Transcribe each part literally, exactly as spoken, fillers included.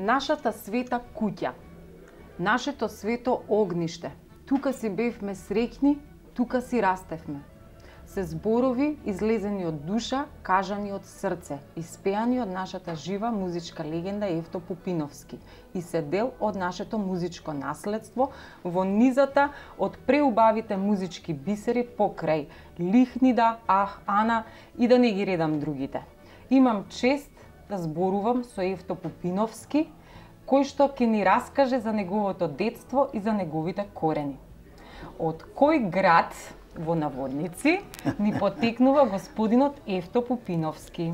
Нашата света куќа, нашето свето огниште, тука си бевме среќни, тука си растевме. Се зборови излезени од душа, кажани од срце, испеани од нашата жива музичка легенда Евто Пупиновски и се дел од нашето музичко наследство во низата од преубавите музички бисери покрај Лихнида, Ах, Ана и да не ги редам другите. Имам чест да зборувам со Евто Пупиновски, кој што ќе ни раскаже за неговото детство и за неговите корени. Од кој град во наводници ни потекнува господинот Евто Пупиновски?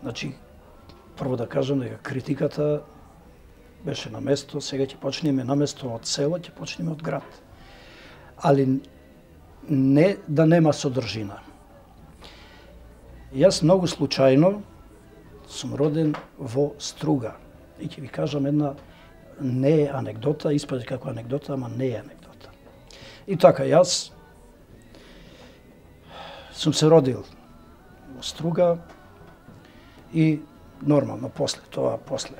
Значи, прво да кажам дека критиката беше на место, сега ќе почнеме на место од село, ќе почнеме од град. Али не да нема содржина. Јас многу случајно сум роден во Струга. И ќе ви кажам една не е анегдота, испади како анегдота, ама не е анегдота. И така, јас сум се родил во Струга и нормално после тоа, после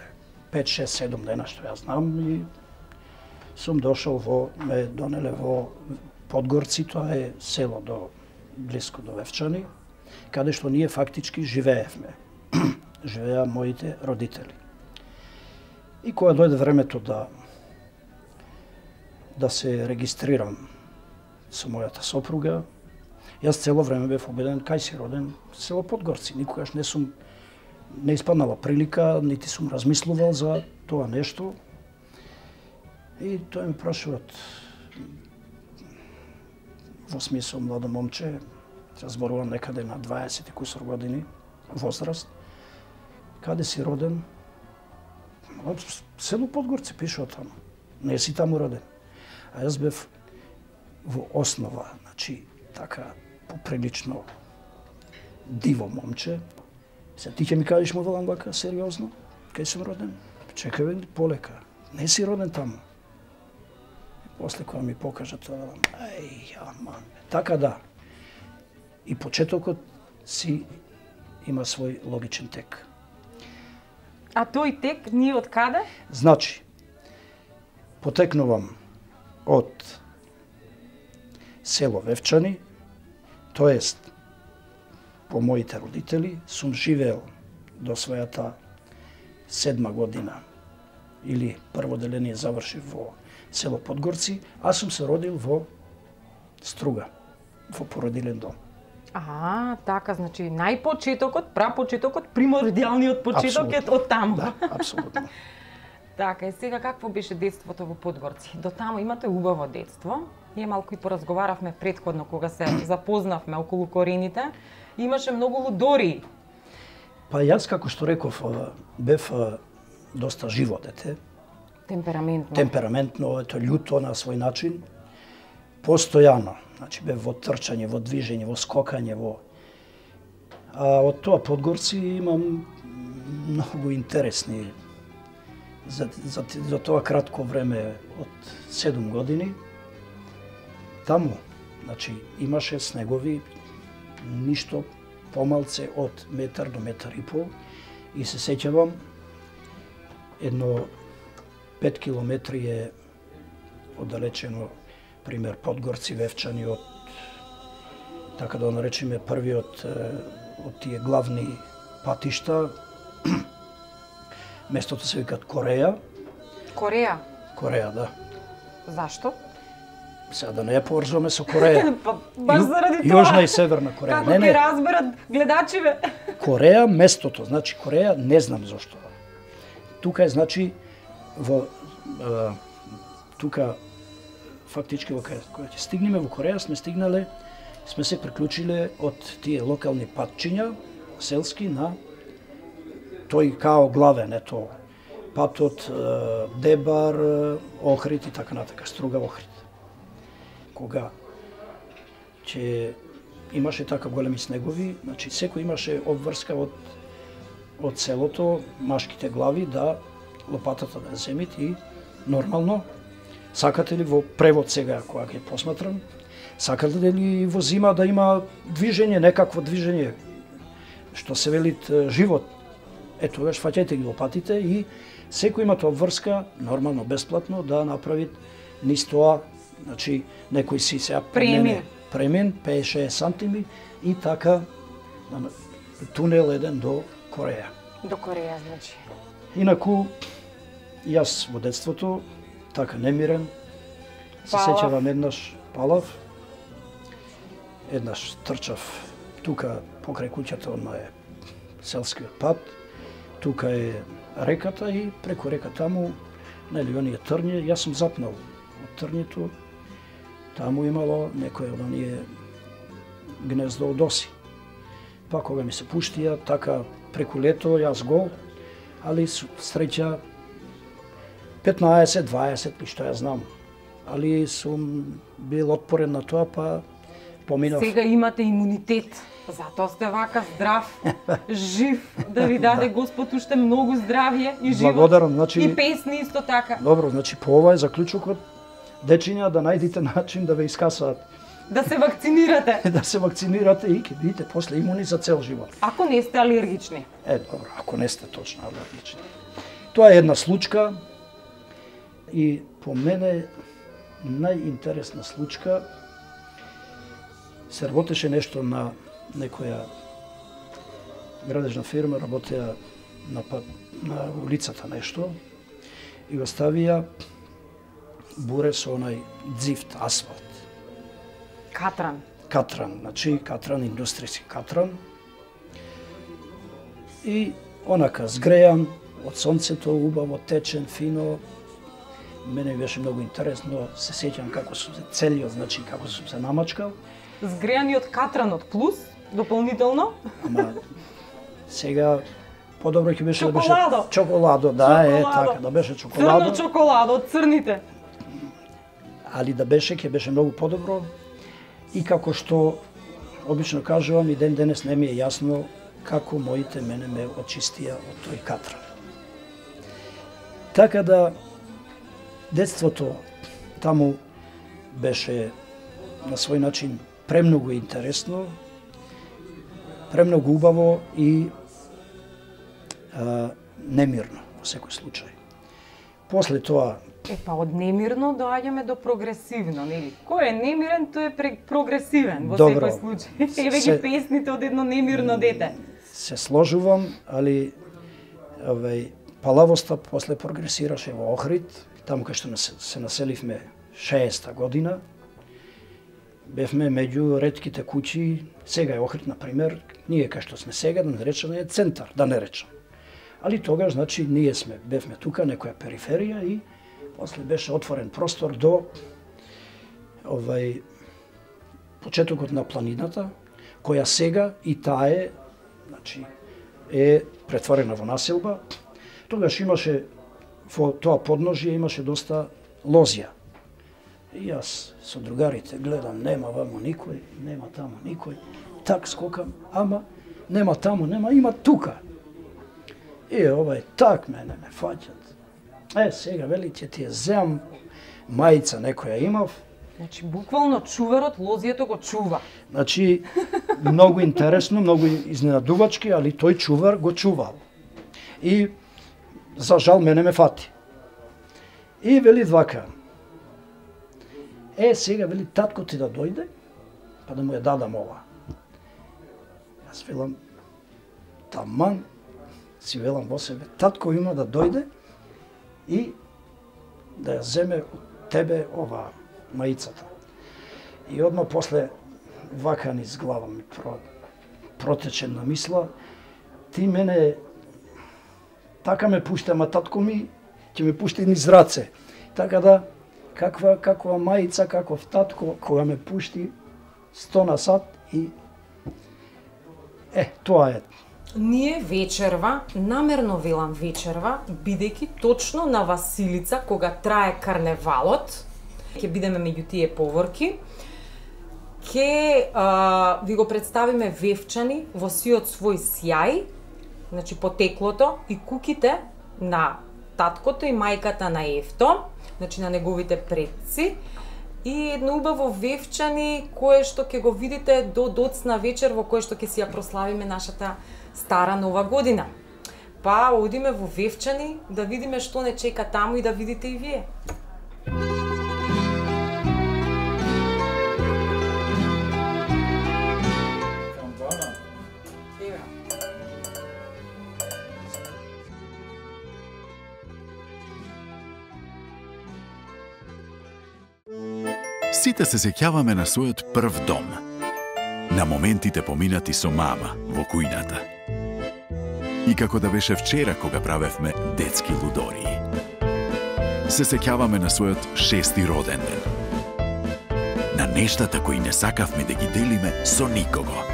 пет, шест, седум дена што јас знам, и сум дошол во, ме донеле во Подгорци, тоа е село до блиско до Вевчани, каде што ние фактички живеевме. Живеа моите родители. И кога дојде времето да да се регистрирам со мојата сопруга, јас цело време бев убеден кај си роден, село Подгорци. Никогаш не сум не испаднала прилика, нити сум размислувал за тоа нешто. И тој ми прашуваат во смисол младо момче, се зборувам некаде на дваесет и кусор години возраст, каде си роден? Село Подгорци пишува таму. Не си таму роден. А јас бев во основа, значи така поприлично диво момче. Се ти ќе ми кажеш му велам вака сериозно, кај сум роден? Чекај бе, полека. Не си роден таму. И после кога ми покажа тоа, велам, ај, аман. Така да. И почетокот си има свој логичен тек. А тој тек ние од каде? Значи, потекнувам од село Вевчани, тоест по моите родители сум живеел до својата седма година или прво деление завршив во село Подгорци, а сум се родил во Струга, во породилен дом. А, така, значи најпочетокот, прапочетокот, примордијалниот почеток е од таму. Да, апсолутно. Така, и сега какво беше детството во Подгорци? До таму имате убаво детство. Ние малку и поразговаравме претходно кога се запознавме околу корените. Имаше многу лудори. Па јас, како што реков, бев доста живо дете. Темпераментно. Темпераментно, ето љуто на свој начин. Постојано, значи бев во трчање, во движење, во скокање, во... А од тоа Подгорци имам многу интересни за, за, за тоа кратко време од седум години. Таму, значи, имаше снегови, ништо помалце од метар до метар и пол, и се сеќавам едно пет километри е оддалечено, пример Подгорци, Вевчани, од, така да наречеме, првиот од тие главни патишта. Местото се викат Кореја. Кореја? Кореја, да. Зашто? Сега да не ја поврзуваме со Кореја. Па, баш заради тоа. Јужна и Северна Кореја. Како ќе разберат гледачиве? Кореја, местото, значи Кореја, не знам зашто. Тука е, значи, во е, тука фактички кога ќе стигнеме во Кореја, сме стигнале, сме се приклучиле од тие локални патчиња, селски, на тој као главен, ето, патот, Дебар, Охрид и така натака, Струга, Охрид. Кога ќе имаше така големи снегови, значи секој имаше обврска од од селото, машките глави да лопатата да земит и нормално сакате ли во превод сега кога ќе посматрам, сакате ли во зима да има движење, некакво движење, што се велит живот. Е, тогаш фаќајте ги лопатите и секој има тоа врска, нормално, бесплатно, да направи низ тоа, значи, некој си сега Премин. премин, петдесет сантими и така тунел еден до Кореја. До Кореја, значи. Инаку, јас во детството, така немирен, се Палав. сеќавам еднаш палав, еднаш трчав тука покрај куќата, одма е селскиот пат, тука е реката и преку река таму, нели, оние трњи, јас сум запнал од трњето, таму имало некој од оние гнездо од оси. Па кога ми се пуштија, така преку лето, јас гол, али среќа петнаесет, дваесет, и што ја знам. Али сум бил отпорен на тоа, па поминав. Сега имате имунитет, затоа сте вака здрав, жив, да ви даде Господ уште многу здравје и живот. Благодарам, значи... И песни исто така. Добро, значи по ова е заклучокот, дечиња, да најдите начин да ве искасаат. Да се вакцинирате. Да се вакцинирате и ќе бидете после имуни за цел живот. Ако не сте алергични. Е, добро, ако не сте точно алергични. Тоа е една случка и по мене најинтересна случка се работеше нешто на некоја градежна фирма, работеа на пат, на улицата нешто и го ставија буре со онај дзифт, асфалт. Катран. Катран, значи катран, индустријски катран. И онака згрејан од сонцето, убаво, течен, фино. Мене беше многу интересно, се сеќам како сум се целиот, значи како сум се намачкал. Згрејани од катранот плюс, дополнително. Ама сега подобро ќе беше да беше Чоколадо. чоколадо, да, Чоколадо. е така, да беше чоколадо. Црно чоколадо од црните. Али да беше, ќе беше многу подобро. И како што обично кажувам, и ден денес не ми е јасно како моите мене ме очистија од тој катран. Така да детството таму беше на свој начин премногу интересно, премногу убаво и а, немирно во секој случај. После тоа Е, па од немирно доаѓаме до прогресивно, нели? Кој е немирен, тој е пре- прогресивен во Добро. секој случај. Еве Се- ги песните од едно немирно дете. се сложувам, али овај палавоста после прогресираше во Охрид, таму кај што нас- се населивме шеесета година. Бевме меѓу ретките куќи, сега е Охрид, на пример, ние кај што сме сега, да не речеме е центар, да не речем. Али тогаш, значи, ние сме, бевме тука, некоја периферија и после беше отворен простор до овај почетокот на планината, која сега и таа е, значи, е претворена во населба. Тогаш имаше во тоа подножје имаше доста лозија. И јас со другарите гледам, нема вамо никој, нема таму никој. Так скокам, ама нема таму, нема, има тука. И овај так мене ме фаќат. Е, сега вели ќе ти ја земам мајца некоја имав. Значи, буквално чуварот лозието го чува. Значи, многу интересно, многу изненадувачки, али тој чувар го чувал. И, за жал, мене ме фати. И вели вака. Е, сега, вели, татко ти да дојде, па да му ја дадам ова. Јас велам, таман, си велам во себе, татко има да дојде и да ја земе од тебе ова маицата. И одма после вака низ глава ми про, протече на мисла, ти мене така ме пушта, ама татко ми ќе ме пушти низ раце. Така да, каква, каква маица, каков татко, кога ме пушти сто на сат и е, тоа е. Ние вечерва, намерно велам вечерва, бидејќи точно на Василица, кога трае карневалот, ќе бидеме меѓу тие поворки, ќе а, ви го представиме Вевчани во сиот свој сјај, значи потеклото и куките на таткото и мајката на Евто, значи на неговите предци, и едно убаво Вевчани кое што ќе го видите до доцна вечер во кое што ќе си ја прославиме нашата стара нова година. Па одиме во Вевчани да видиме што не чека таму и да видите и вие. Сите се сеќаваме на својот прв дом, на моментите поминати со мама во кујната. И како да беше вчера кога правевме детски лудории. Се сеќаваме на својот шести роден ден. На нештата кои не сакавме да ги делиме со никого.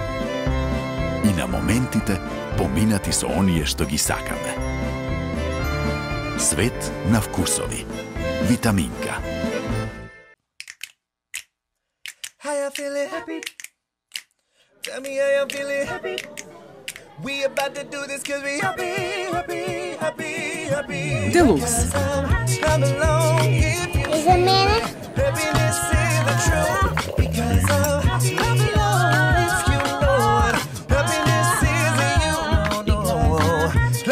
И на моментите поминати со оние што ги сакаме. Свет на вкусови. Витаминка. How you feeling? Happy. Tell me how you feeling? Happy. We about to do this cause we happy, happy, happy, happy. Deluxe. I'm alone if you Is it man? happiness is the truth. Because I'm alone if you know it. Happiness is in you. No, no.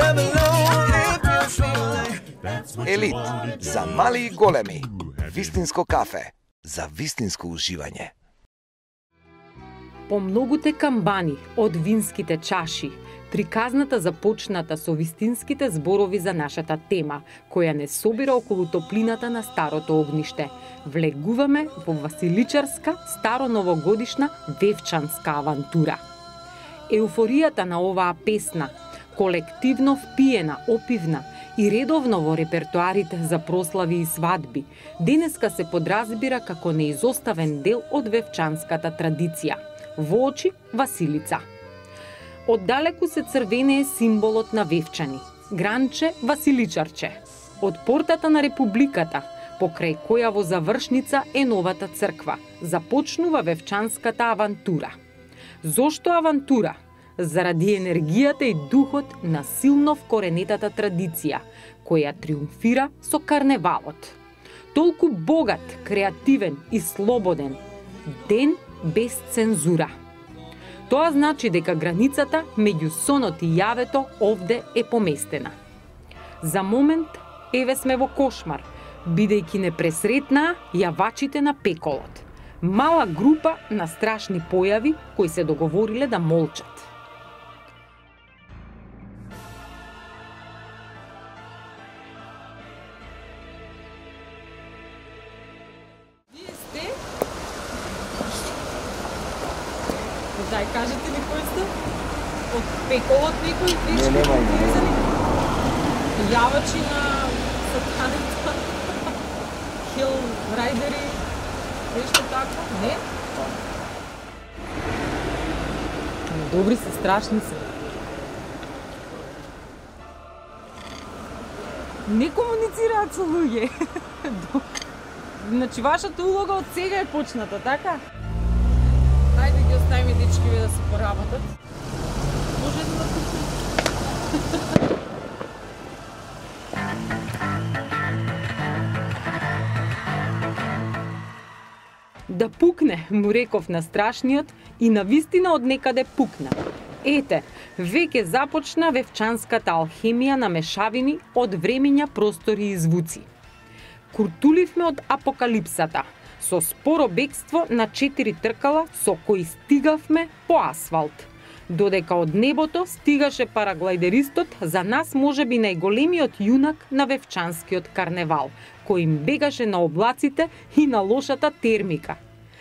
I'm alone if you feel like. Елит за мали и големи. Вистинско кафе за вистинско уживање. По многуте камбани од винските чаши, приказната започната со вистинските зборови за нашата тема, која не собира околу топлината на старото огниште. Влегуваме во василичарска, староновогодишна, вевчанска авантура. Еуфоријата на оваа песна, колективно впиена, опивна и редовно во репертуарите за прослави и свадби, денеска се подразбира како неизоставен дел од вевчанската традиција. Во очи Василица. Оддалеку се црвенее символот на Вевчани, гранче Василичарче. Од портата на Републиката, покрај која во завршница е новата црква, започнува вевчанската авантура. Зошто авантура? Заради енергијата и духот на силно вкоренетата традиција, која триумфира со карневалот. Толку богат, креативен и слободен ден без цензура. Тоа значи дека границата меѓу сонот и јавето овде е поместена. За момент, еве сме во кошмар, бидејќи не пресретнаа јавачите на пеколот. Мала група на страшни појави кои се договориле да молчат. Дај, кажете ли кој сте? Од пеколот некој веќе? Не, нема име. Јавачи на сатаната, хил рајдери, нешто такво? Не? Добри се, страшни се. Не комуницираат со луѓе. Значи, вашата улога од сега е почната, така? Ајде ги оставиме дечкиве да се поработат. Може да пукне. Да пукне, му реков на страшниот и на вистина од некаде пукна. Ете, веќе започна вевчанската алхемија на мешавини од времиња, простори и звуци. Куртуливме од апокалипсата, со споро бегство на четири тркала со кои стигавме по асфалт. Додека од небото стигаше параглайдеристот, за нас можеби најголемиот јунак на вевчанскиот карневал, кој им бегаше на облаците и на лошата термика.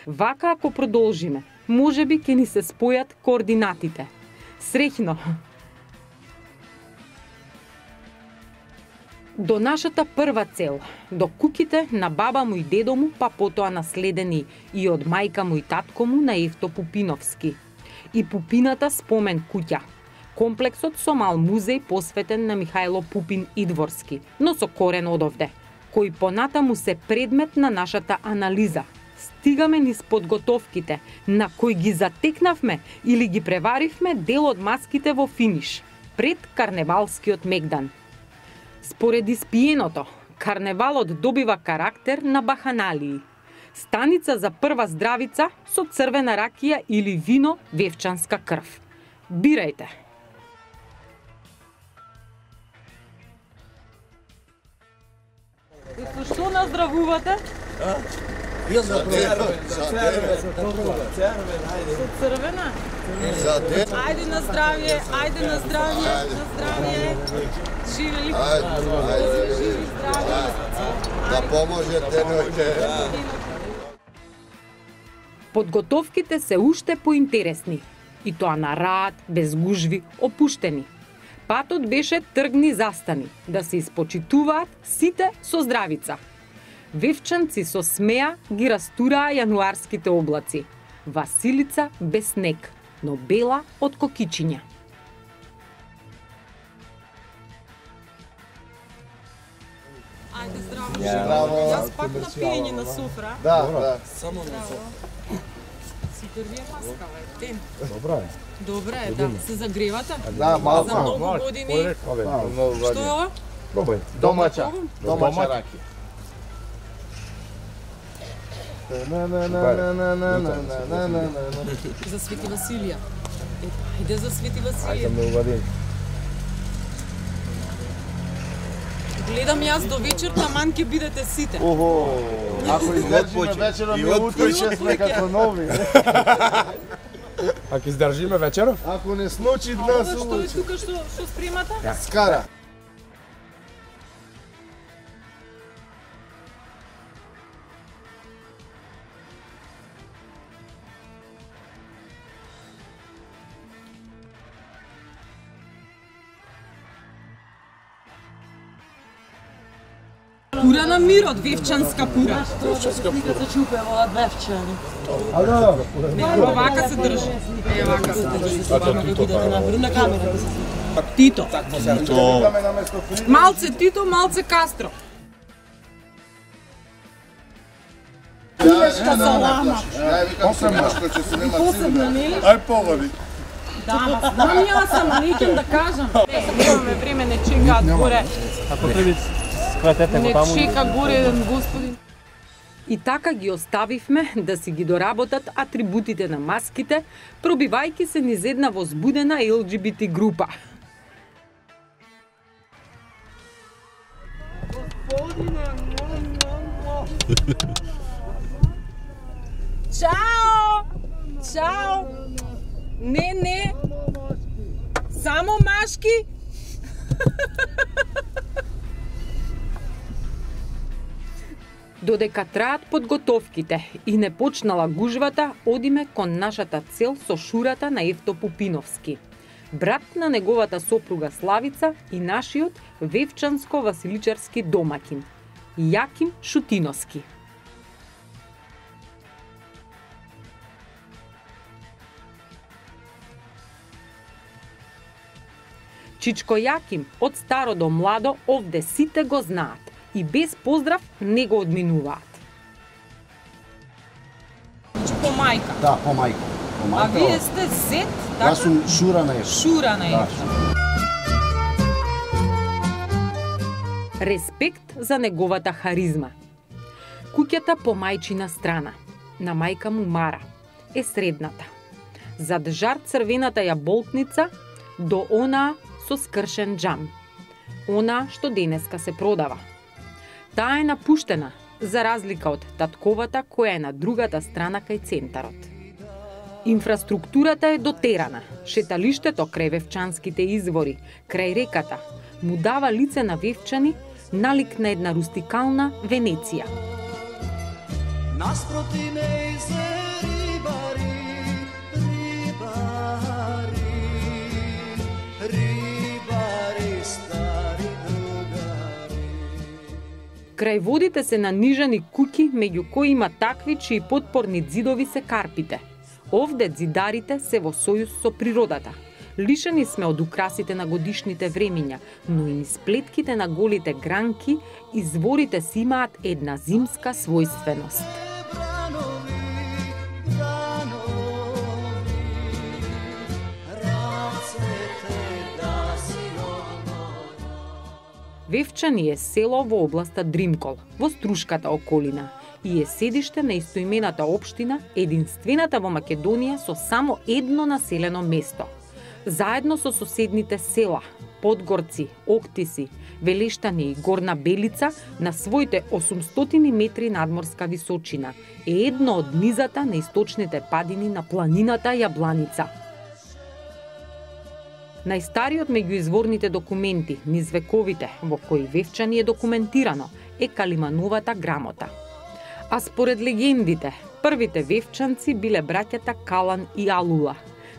Вака ако продолжиме, можеби ќе ни се спојат координатите. Среќно! До нашата прва цел, до куќите на баба му и дедо му, па потоа наследени и од мајка му и татко му на Евто Пупиновски. И Пупината спомен куќа. Комплексот со мал музеј посветен на Михајло Пупин Идворски, но со корен одовде, кој понатаму се предмет на нашата анализа. Стигаме низ подготовките, на кои ги затекнавме или ги преваривме дел од маските во финиш, пред карневалскиот мегдан. Според испиеното, карневалот добива карактер на баханалии. Станица за прва здравица со црвена ракија или вино вевчанска крв. Бирајте! Со што наздравувате? Јас за црвен, за црвен, Со црвена? за ден. Ајде на здравје, ајде на здравје, на здравје. Живели. Ајде, ајде, Живи, здрави. да поможете ноќе. Подготовките се уште поинтересни. И тоа на рад, без гужви, опуштени. Патот беше тргни застани, да се испочитуваат сите со здравица. Вевчанци со смеа ги растураа јануарските облаци. Василица без снег, но бела од кокичиња. Ајде здраво, Здраво. Јас пак на пиење на софра. Да, да. Си дрвија маска, бе, ден. Добра е. Добре е, да. Се загревате? Да, малку. За многу години. Што е ова? Пробај. Домача, домача Домаќа. раки. На на на на на на на на на на. За Свети Василија. Е, Ајде за Свети Ајде Василија. ме увадим. Гледам јас до вечер, таман ќе бидете сите. Охо. Ако издржиме вечером, ми утре ќе сме како нови. Ако издржиме вечеров? Ако не случи Ова днес, што е случи. тука што што спремате? Скара. Пура на мирот, вевчанска пура. А да, Не, овака се држи. Е, овака се држи. Тито. Викаме на место фри. Малце Тито, малце Кастро. салама. Ја викам се машко ќе се нема цивна. Ај погоди. Да, ма знам јас сам, а не ќе да кажам. Не, имаме време, не чекаат горе. Ако треба скратете го Не таму. чека горе еден господин. И така ги оставивме да си ги доработат атрибутите на маските, пробивајќи се низ една возбудена Ел Џи Би Ти група. Чао! Чао! Не, не! Само машки! Додека траат подготовките и не почнала гужвата, одиме кон нашата цел со шурата на Евто Пупиновски, брат на неговата сопруга Славица и нашиот вевчанско-василичарски домакин, Јаким Шутиновски. Чичко Јаким од старо до младо овде сите го знаат и без поздрав не го одминуваат. По мајка. Да, по мајко. По А мајко. вие сте зет, така? Јас сум шура на Евто. Шура на Да, Евто. Респект за неговата харизма. Куќата по мајчина страна, на мајка му Мара, е средната. Зад жар црвената јаболтница до онаа со скршен џам. Она што денеска се продава. Таа е напуштена, за разлика од татковата која е на другата страна кај центарот. Инфраструктурата е дотерана. Шеталиштето крај Вевчанските извори, крај реката, му дава лице на Вевчани, налик на една рустикална Венеција. Наспроти нејзе рибари, рибари, рибари, стари другари. Крај водите се нанижани куќи, меѓу кои има такви чии потпорни ѕидови се карпите. Овде ѕидарите се во сојуз со природата. Лишени сме од украсите на годишните времиња, но и низ плетките на голите гранки, изворите си имаат една зимска својственост. Бранови, бранови, рацете да си обнова. Вевчани е село во областа Дримкол, во Струшката околина, и е седиште на истоимената општина, единствената во Македонија со само едно населено место. Заедно со соседните села Подгорци, Октиси, Велештани и Горна Белица на своите осумстотини метри надморска височина е едно од низата на источните падини на планината Јабланица. Најстариот меѓу изворните документи низ вековите во кои Вевчани е документирано е Калимановата грамота. А според легендите, првите вевчанци биле браќата Калан и Алула,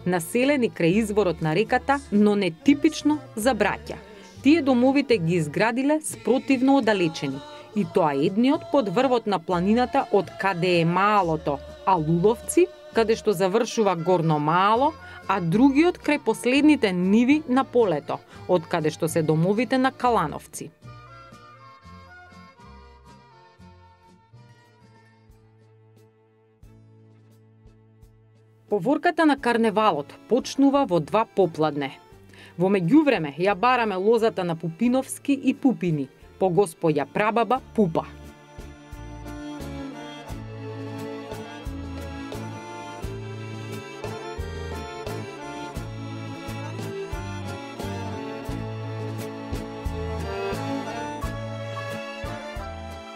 населени крај изворот на реката, но не типично за браќа. Тие домовите ги изградиле спротивно оддалечени, и тоа едниот под врвот на планината од каде е малото Алуловци, каде што завршува Горно Мало, а другиот крај последните ниви на полето, од каде што се домовите на Калановци. Поворката на карневалот почнува во два попладне. Во меѓувреме ја бараме лозата на Пупиновски и Пупини, по господја прабаба Пупа.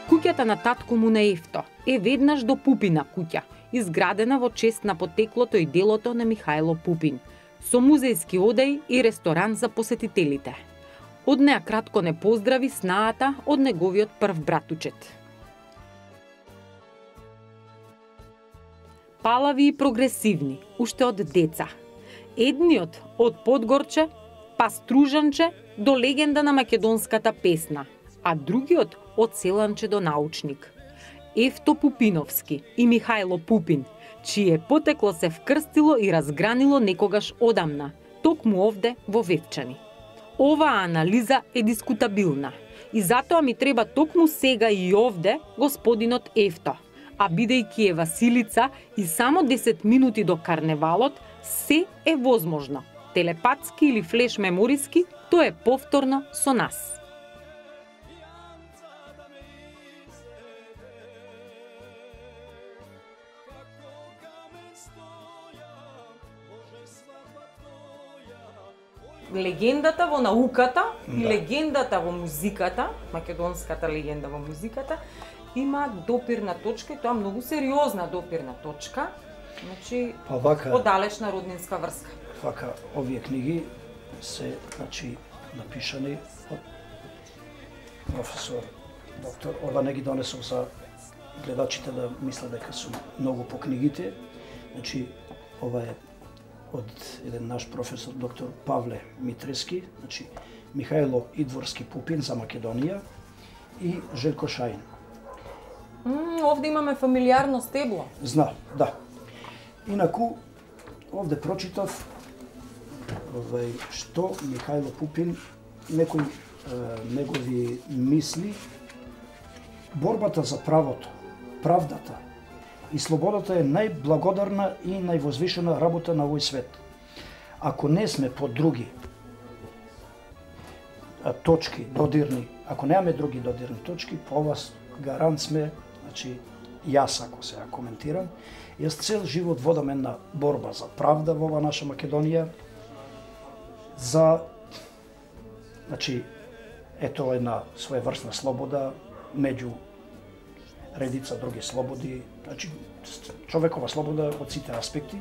Куќата на татко му на Ефто е веднаш до Пупина куќа, изградена во чест на потеклото и делото на Михајло Пупин, со музејски одеи и ресторан за посетителите. Од неа кратко не поздрави снаата од неговиот прв братучет. Палави и прогресивни, уште од деца. Едниот од Подгорче, па Стружанче до легенда на македонската песна, а другиот од Селанче до научник. Ефто Пупиновски и Михајло Пупин, чие потекло се вкрстило и разгранило некогаш одамна, токму овде во Вевчани. Оваа анализа е дискутабилна и затоа ми треба токму сега и овде господинот Ефто, а бидејќи е Василица и само десет минути до карневалот, се е возможно. Телепатски или флеш мемориски, тоа е повторно со нас. Легендата во науката и Да. легендата во музиката, македонската легенда во музиката, има допирна точка и тоа многу сериозна допирна точка. Значи, Па вака, оддалечна роднинска врска. вака овие книги се, значи, напишани од професор, доктор. Ова не ги донесов за гледачите да мислат дека сум многу по книгите. Значи, ова е од еден наш професор, доктор Павле Митрески, значи Михајло Идворски Пупин за Македонија и Желко Шаин. М, овде имаме фамилиарно стебло. Зна, да. Инаку, овде прочитав овај, што Михајло Пупин, некои е, негови мисли, борбата за правото, правдата и слободата е најблагодарна и највозвишена работа на овој свет. Ако не сме по други а, точки додирни, ако немаме други додирни точки, по вас гарант сме, значи јас ако се ја коментирам, јас цел живот водам една борба за правда во ова наша Македонија, за, значи, ето една своеврсна слобода меѓу редица други слободи, значи човекова слобода од сите аспекти.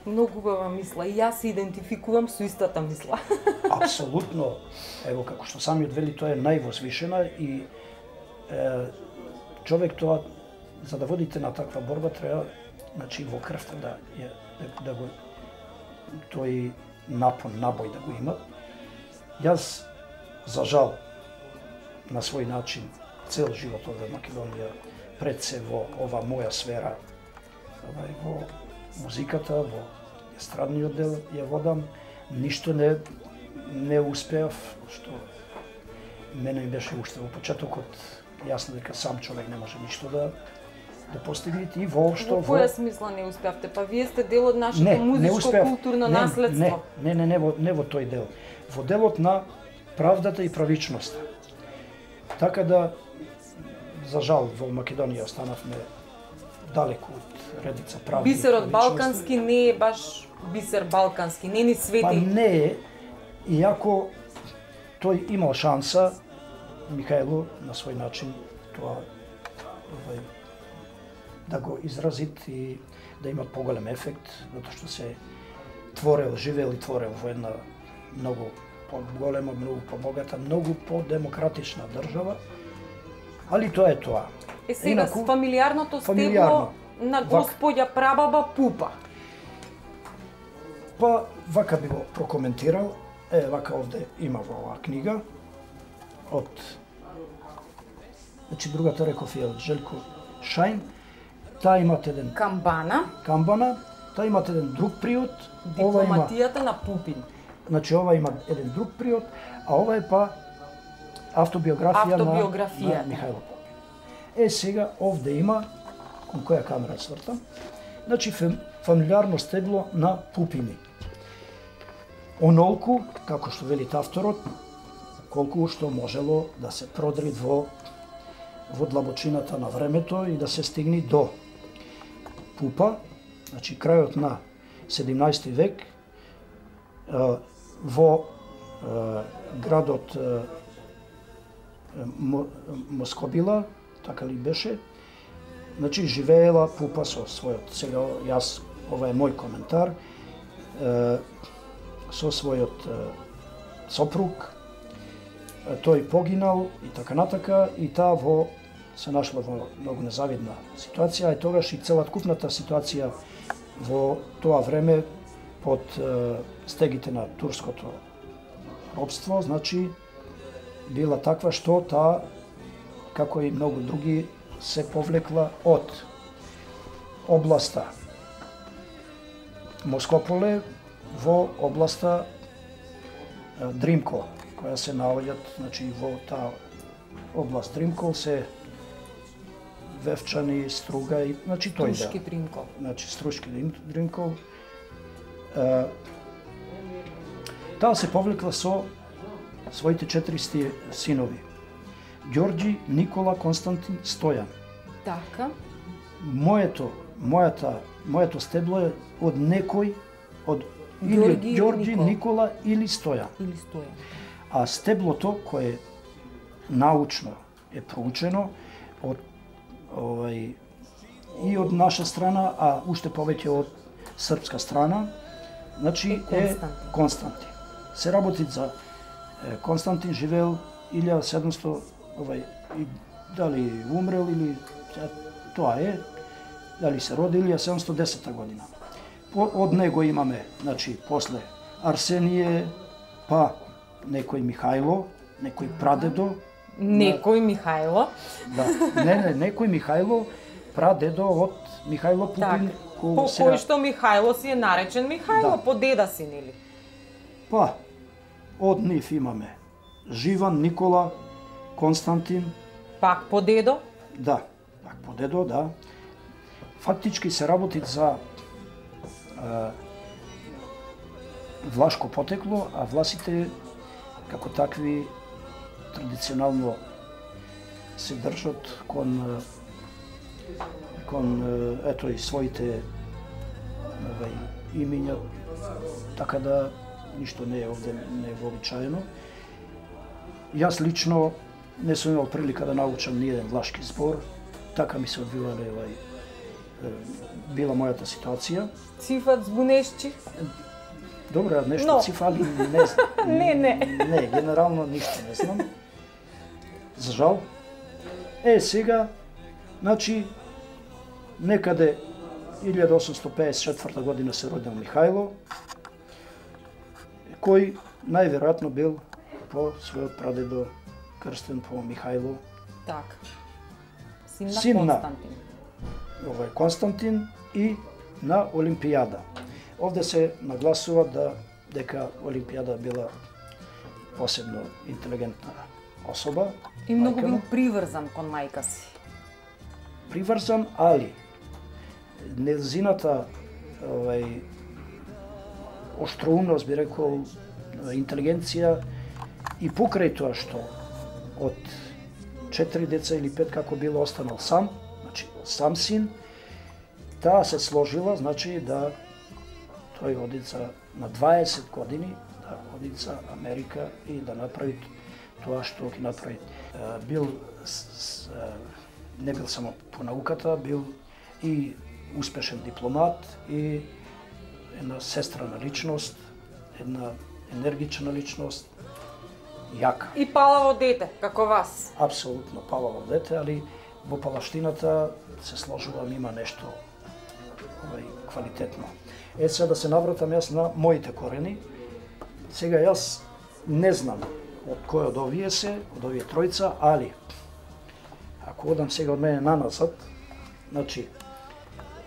Многу убава мисла и јас се идентификувам со истата мисла. Апсолутно, ево како што самиот вели, тоа е највозвишена и е, човек тоа, за да водите на таква борба, треба, значи, во крвта да, ја, да, да го, тој напон, набој да го има. Јас, за жал, на свој начин, цел живот овде во Македонија, пред се во ова моја сфера, овај, во музиката, во естрадниот дел ја водам, ништо не не успеав, што мене ми беше уште во почетокот јасно дека сам човек не може ништо да да постигне и воопшто Во која смисла не успеавте? Па вие сте дел од нашето не, не музичко успеав. културно не, наследство. Не, не, не, не, во, не во тој дел. Во делот на правдата и правичноста. Така да, за жал, во Македонија останавме далеку од редица правди. Бисерот балкански не е баш бисер балкански, не ни свети. Па не е, иако тој имал шанса, Михајло, на свој начин, тоа овај, да го изразит и да имат поголем ефект, затоа што се творел, живеел и творел во една многу поголема, многу побогата, многу подемократична држава, али тоа е тоа. Е сега, Инаку, фамилиарното стебло фамилиарно. на Вак- господја прабаба Пупа. Па, вака би го прокоментирал, е, вака овде има во оваа книга, од, значи другата реков е од Желко Шајн, таа имат еден Камбана, Камбана, таа имат еден друг приод, ова има, дипломатијата на Пупин. значи ова има еден друг приод, а ова е па автобиографија, Автобиографија. на, на Михајло Пупин. Е, сега овде има, кон која камера свртам, значи фем, фамилиарно стебло на Пупини. Онолку, како што велит авторот, колку што можело да се продри во во длабочината на времето и да се стигне до Пупа, значи крајот на седумнаесети век, е, во е, градот е, Мо- Москобила, така ли беше, значи живеела Пупа со својот, сега јас, ова е мој коментар, е, со својот е, сопруг, е, тој погинал и така натака, и таа во се нашла во многу незавидна ситуација, и тогаш и целокупната ситуација во тоа време под е, стегите на турското робство, значи била таква што таа, како и многу други, се повлекла од областа Москополе во областа е, Дримкол, која се наоѓаат, значи во таа област Дримкол се Вевчани, Струга и значи тој Трушки да. Дримкол. Значи Струшки Дримкол. Е, таа се повлекла со своите четири сти- синови. Ѓорѓи, Никола, Константин, Стојан. Така. Моето, мојата, моето стебло е од некој, од или Ѓорѓи од или Ѓорѓи, Никола. Никола или Стојан. Или Стојан. А стеблото кое научно е проучено од овај и од наша страна, а уште повеќе од српска страна, значи Е е Константин. Константин. Се работи за е, Константин живеел илјада седумсто овај и дали умрел или е, тоа е, дали се роди илјада седумсто и десета година. По, од него имаме, значи, после Арсенije, па некој Михајло, некој прадедо, Некој Михајло. да, не, не, некој Михајло, прадедо од Михајло Пупин, Така. кој По сега- кој што Михајло си е наречен Михајло, Да. по деда си, нели? Па, од нив имаме Живан, Никола, Константин, Пак по дедо. да, пак по дедо, да. Фактички се работи за а, влашко потекло, а власите како такви традиционално се држат кон а, кон а, ето и своите овај имиња, така да ништо не е овде не е вообичаено. Јас лично не сум имал прилика да научам ни еден влашки збор, така ми се одвивале овај е, била мојата ситуација. Цифат збунешчи. Добро, нешто Но. цифали не знам. Не, не. Не, генерално ништо не знам. За жал. Е, сега, значи, некаде илјада осумсто пеесет и четврта година се родил Михајло, кој најверојатно бил по својот прадедо крстен по Михајло, Така. Син на Син на. Константин. овај Константин и на Олимпијада. Овде се нагласува да дека Олимпијада била посебно интелигентна особа. И многу мајка му. бил приврзан кон мајка си. Приврзан, али незината овај оштроумност, би рекол, интелигенција и покрај тоа што од четири деца или пет како било останал сам, значи сам син, таа се сложила, значи да тој оди за на дваесет години, да оди за Америка и да направи тоа што ги направи. Бил не бил само по науката, бил и успешен дипломат и една сестрана личност, една енергична личност, јака. И палаво дете, како вас. Апсолутно палаво дете, али во палаштината се сложувам, има нешто овај квалитетно. Е, сега да се навратам јас на моите корени. Сега јас не знам од кој од овие се, од овие тројца, али ако одам сега од мене наназад, значи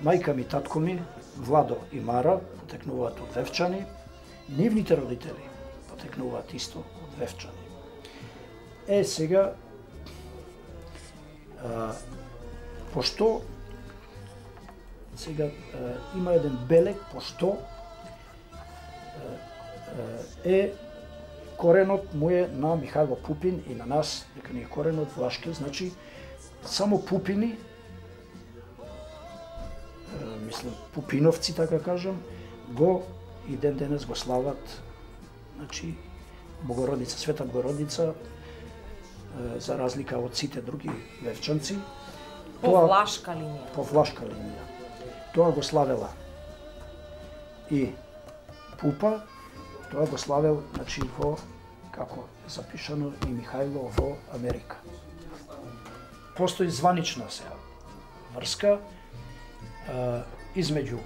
мајка ми, татко ми, Владо и Мара потекнуваат од Вевчани, нивните родители потекнуваат исто од Вевчани. Е, сега а, пошто сега а, има еден белег пошто а, е коренот му е на Михајло Пупин и на нас, дека ни е коренот влашки, значи само Пупини, мислам Пупиновци, така кажам, го и ден денес го слават, значи Богородица, Света Богородица, за разлика од сите други вевчанци. По тоа, влашка линија. По влашка линија. Тоа го славела и Пупа, тоа го славел, значи, во, како запишано, и Михајло во Америка. Постои званична сега врска а, измеѓу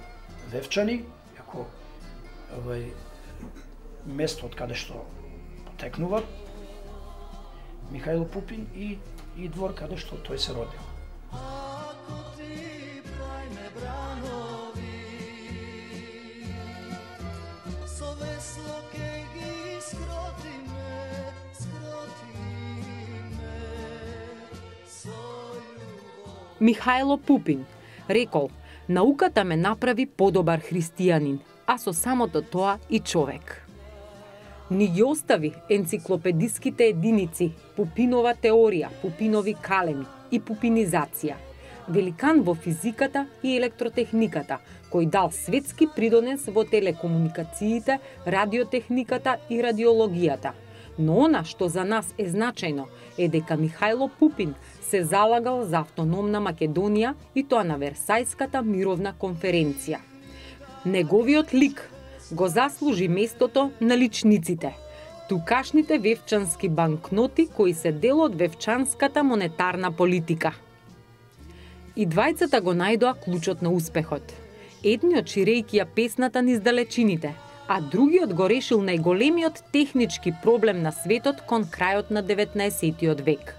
Вевчани, како овај место од каде што потекнува Михајло Пупин и, и двор каде што тој се родил. Михајло Пупин рекол: науката ме направи подобар христијанин, а со самото тоа и човек. Ни ги остави енциклопедиските единици, Пупинова теорија, Пупинови калеми и пупинизација. Великан во физиката и електротехниката, кој дал светски придонес во телекомуникациите, радиотехниката и радиологијата. Но она што за нас е значајно е дека Михајло Пупин се залагал за автономна Македонија и тоа на Версајската мировна конференција. Неговиот лик го заслужи местото на личниците, тукашните вевчански банкноти кои се дел од вевчанската монетарна политика. И двајцата го најдоа клучот на успехот. Едниот ширејќи ја песната низ далечините, а другиот го решил најголемиот технички проблем на светот кон крајот на деветнаесеттиот век,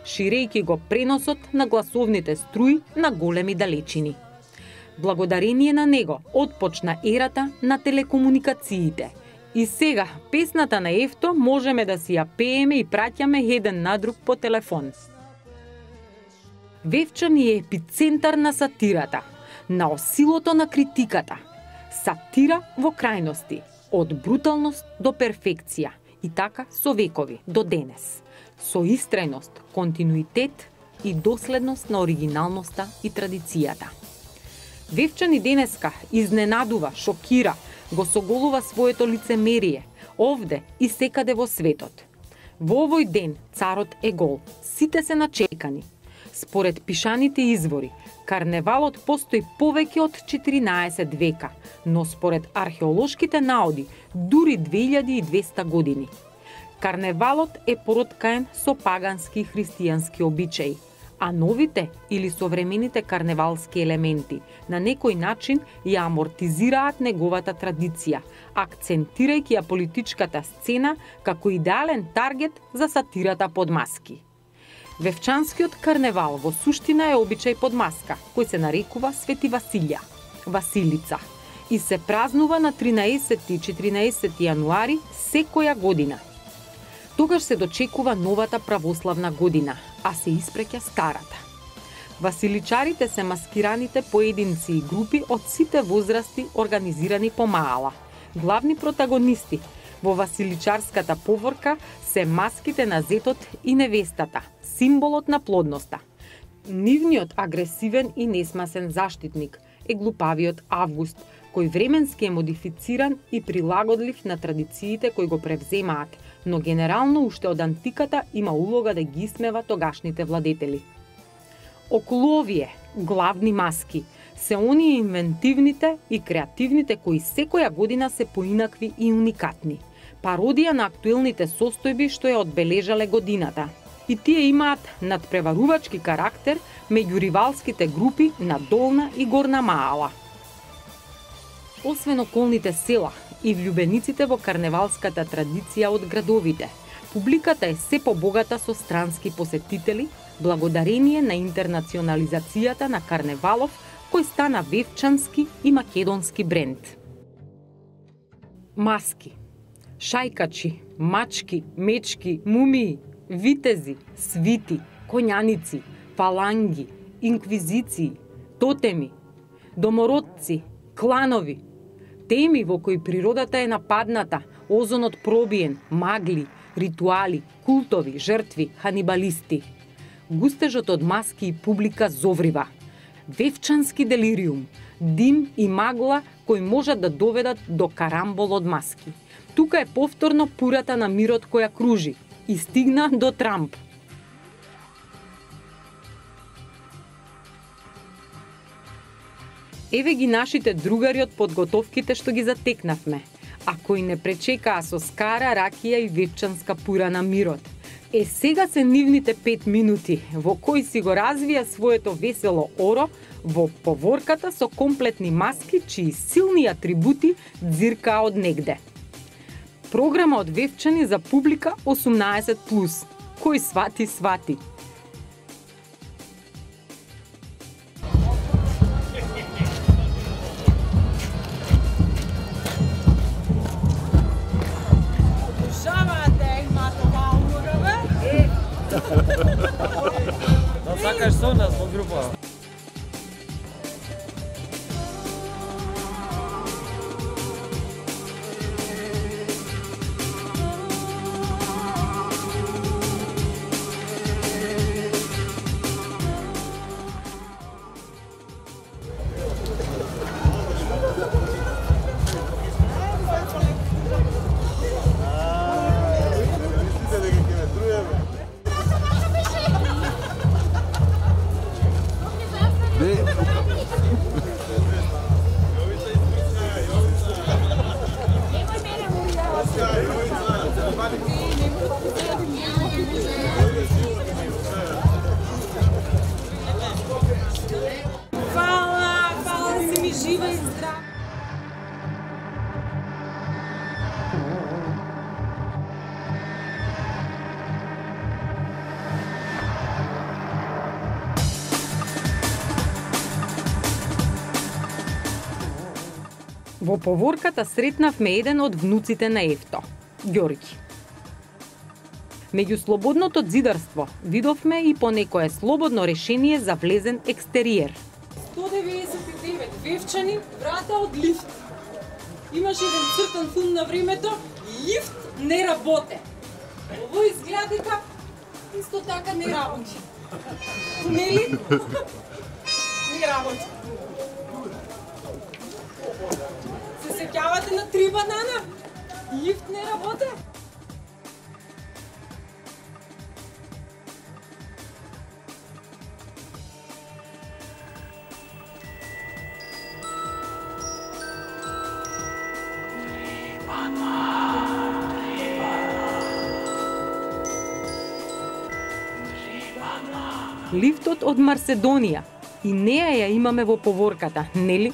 ширејќи го преносот на гласовните струи на големи далечини. Благодарение на него отпочна ерата на телекомуникациите. И сега песната на Ефто можеме да си ја пееме и праќаме еден на друг по телефон. Вевчани е епицентар на сатирата, на осилото на критиката. Сатира во крајности, од бруталност до перфекција, и така со векови до денес. Со истрајност, континуитет и доследност на оригиналноста и традицијата. Вевчани денеска изненадува, шокира, го соголува своето лицемерие, овде и секаде во светот. Во овој ден царот е гол, сите се начекани. Според пишаните извори, карневалот постои повеќе од четиринаесет века, но според археолошките наоди дури две илјади и двесте години. Карневалот е пороткаен со пагански и христијански обичаи, а новите или современите карневалски елементи на некој начин ја амортизираат неговата традиција, акцентирајќи ја политичката сцена како идеален таргет за сатирата под маски. Вевчанскиот карневал во суштина е обичај под маска, кој се нарекува Свети Василја, Василица, и се празнува на тринаесети и четиринаесети јануари секоја година. Тогаш се дочекува новата православна година, а се испреќа старата. Василичарите се маскираните поединци и групи од сите возрасти организирани по маала. Главни протагонисти во василичарската поворка се маските на зетот и невестата, символот на плодноста. Нивниот агресивен и несмасен заштитник е глупавиот Август, кој временски е модифициран и прилагодлив на традициите кои го превземаат, но генерално уште од антиката има улога да ги исмева тогашните владетели. Околу овие главни маски се оние инвентивните и креативните кои секоја година се поинакви и уникатни. Пародија на актуелните состојби што ја одбележале годината. И тие имаат надпреварувачки карактер меѓу ривалските групи на Долна и Горна Маала. Освен околните села и влюбениците во карневалската традиција од градовите, публиката е се побогата со странски посетители, благодарение на интернационализацијата на карневалов, кој стана вевчански и македонски бренд. Маски, шајкачи, мачки, мечки, мумии, витези, свити, коњаници, фаланги, инквизиции, тотеми, домородци, кланови, теми во кои природата е нападната, озонот пробиен, магли, ритуали, култови, жртви, ханибалисти. Густежот од маски и публика зоврива. Вевчански делириум, дим и магла кои можат да доведат до карамбол од маски. Тука е повторно пурата на мирот која кружи и стигна до Трамп. Еве ги нашите другари од подготовките што ги затекнавме, а кои не пречекаа со скара, ракија и вевчанска пура на мирот. Е, сега се нивните пет минути, во кои си го развија своето весело оро во поворката со комплетни маски, чии силни атрибути дзиркаа од негде. Програма од Вевчани за публика осумнаесет плюс. Кој свати, свати. Да сакаш со нас во група. Fala, fala si mi živa i zdrava. Во поворката сретнавме еден од внуците на Евто, Ѓорги. Меѓу слободното дзидарство видовме и по некое слободно решение за влезен екстериер. сто деветдесет и девет Вевчани, врата од лифт. Имаш еден цртан филм на времето, лифт не работе. Ово изгледа дека исто така не работи. Нели? Не работи. Се сеќавате на три банана? Лифт не работе? Лифтот од Марседонија. И неа ја имаме во поворката, нели?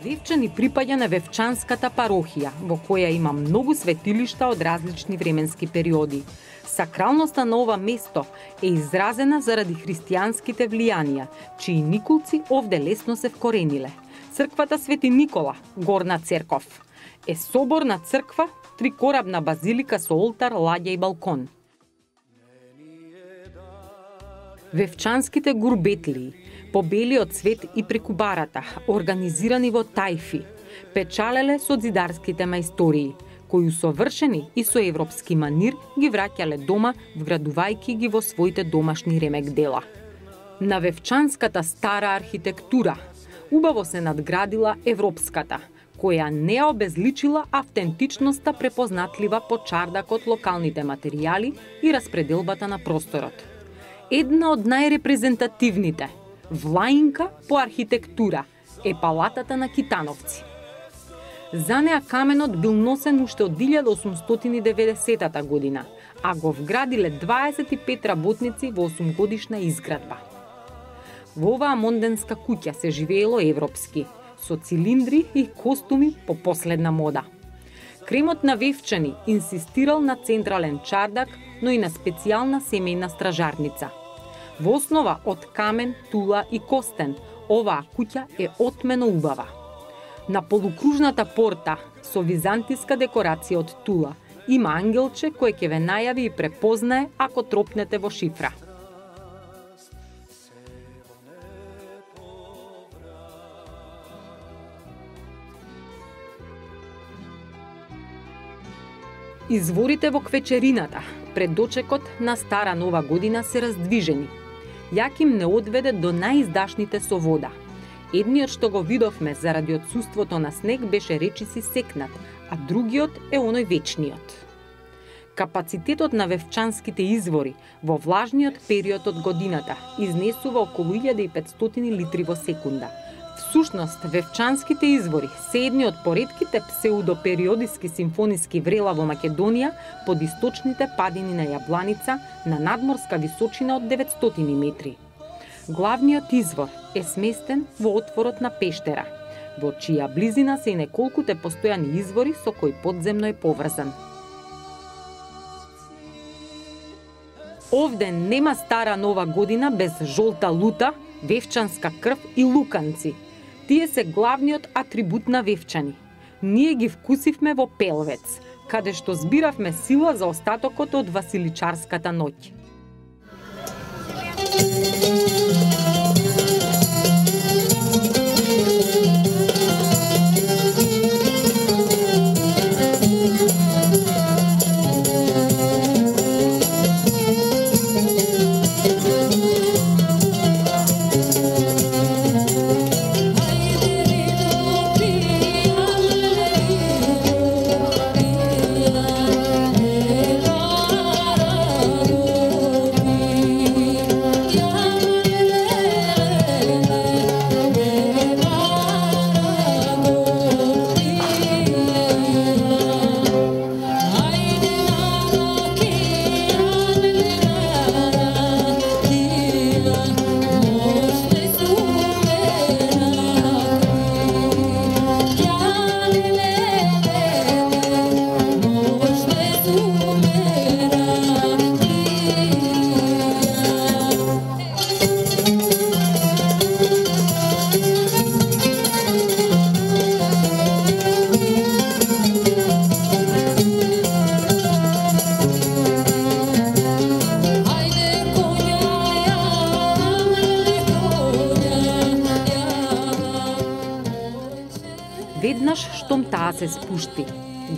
Вевчани припаѓа на Вевчанската парохија, во која има многу светилишта од различни временски периоди. Сакралноста на ова место е изразена заради христијанските влијанија, чии николци овде лесно се вкорениле. Црквата Свети Никола, Горна церков, е соборна црква, трикорабна базилика со олтар, ладја и балкон. Вевчанските гурбетлии, по белиот цвет и преку барата, организирани во тајфи, печалеле со зидарските мајстории, кои усовршени и со европски манир ги враќале дома, вградувајќи ги во своите домашни ремек дела. На вевчанската стара архитектура убаво се надградила европската, која не обезличила автентичноста препознатлива по чардакот, локалните материјали и распределбата на просторот. Една од најрепрезентативните, влаинка по архитектура, е палатата на Китановци. За неа каменот бил носен уште од илјада осумстотини и деветдесетата година, а го вградиле дваесет и пет работници во осумгодишна изградба. Во оваа монденска куќа се живеело европски, со цилиндри и костуми по последна мода. Кремот на Вевчани инсистирал на централен чардак, но и на специјална семејна стражарница. Во основа од камен, тула и костен, оваа куќа е отмено убава. На полукружната порта со византиска декорација од тула има ангелче кој ќе ве најави и препознае ако тропнете во шифра. Изворите во квечерината пред дочекот на Стара Нова година се раздвижени. Јаким не одведе до најиздашните со вода. Едниот што го видовме заради отсуството на снег беше речиси секнат, а другиот е оној вечниот. Капацитетот на вевчанските извори во влажниот период од годината изнесува околу илјада и петстотини литри во секунда. Всушност, вевчанските извори се едни од поредките псеудопериодиски симфониски врела во Македонија под источните падини на Јабланица на надморска височина од деветстотини метри. Главниот извор е сместен во отворот на пештера, во чија близина се и неколкуте постојани извори со кои подземно е поврзан. Овде нема Стара Нова година без жолта лута, вевчанска крв и луканци. Тие се главниот атрибут на Вевчани. Ние ги вкусивме во Пелвец, каде што збиравме сила за остатокот од Василичарската ноќ. Веднаш штом таа се спушти,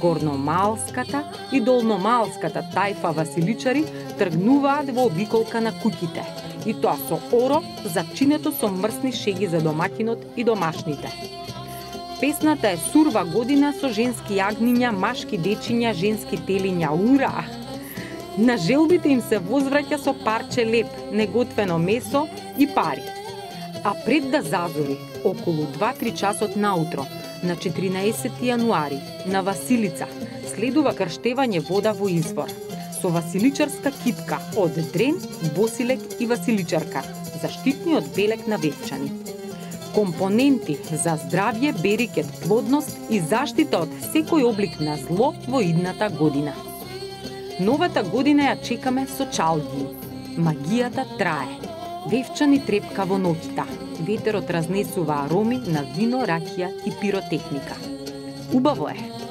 горномалската и долномалската тајфа василичари тргнуваат во обиколка на куќите, и тоа со оро зачинето со мрсни шеги за домакинот и домашните. Песната е сурва година со женски јагниња, машки дечиња, женски телиња, ура! На желбите им се возвраќа со парче леп, неготвено месо и пари. А пред да зазори, околу два-три часот наутро, на четиринаесети јануари, на Василица, следува крштевање вода во извор, со василичарска китка од дрен, босилек и василичарка, заштитниот белек на Вевчани. Компоненти за здравје, берикет, плодност и заштита од секој облик на зло во идната година. Новата година ја чекаме со чалги. Магијата трае. Вевчани трепка во ноќта. Ветерот разнесува ароми на вино, ракија и пиротехника. Убаво е!